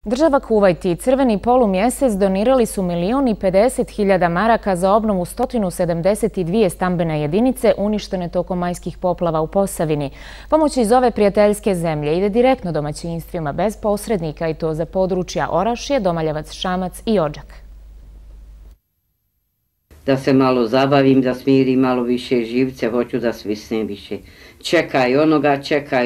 Država Kuvajt i Crveni polumjesec donirali su 1.050.000 maraka za obnovu 172 stambene jedinice uništene tokom majskih poplava u Posavini. Pomoć iz ove prijateljske zemlje ide direktno domaćinstvima bez posrednika i to za područja Orašje, Domaljevac, Šamac i Odžak. Da se malo zabavim, da smirim malo više živce, hoću da svisnem više. Čekaj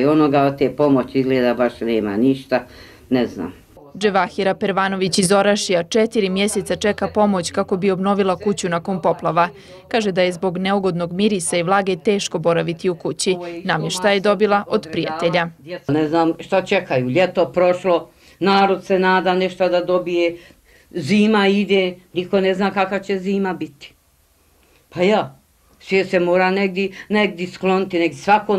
onoga, od te pomoći izgleda baš nema ništa, ne znam. Dževahira Pervanović iz Orašija 4 mjeseca čeka pomoć kako bi obnovila kuću nakon poplava. Kaže da je zbog neugodnog mirisa i vlage teško boraviti u kući. Namještaj je dobila od prijatelja. Ne znam šta čekaju, ljeto prošlo, narod se nada nešto da dobije, zima ide, niko ne zna kakva će zima biti. Pa ja, svijet se mora negdje skloniti, svako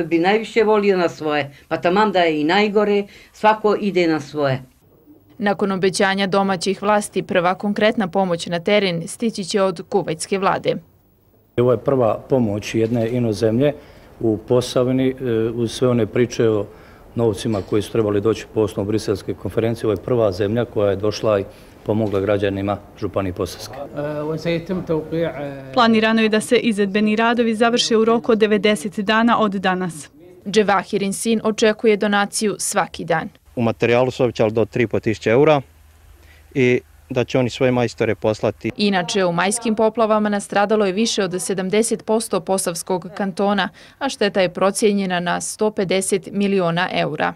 bi najviše volio na svoje, pa taman da je i najgore, svako ide na svoje. Nakon obećanja domaćih vlasti, prva konkretna pomoć na teren stići će od kuvajtske vlade. Ovo je prva pomoć jedne inozemlje u Posavini uz sve one priče o novcima koji su trebali doći po osnovu briselske konferencije. Ovo je prva zemlja koja je došla i pomogla građanima Županije Posavske. Planirano je da se izvedbeni radovi završe u roku od 90 dana od danas. Dževahirin sin očekuje donaciju svaki dan. U materijalu su obećali do 3.500 eura i da će oni svoje majstore poslati. Inače, u majskim poplavama nastradalo je više od 70% Posavskog kantona, a šteta je procijenjena na 150 miliona eura.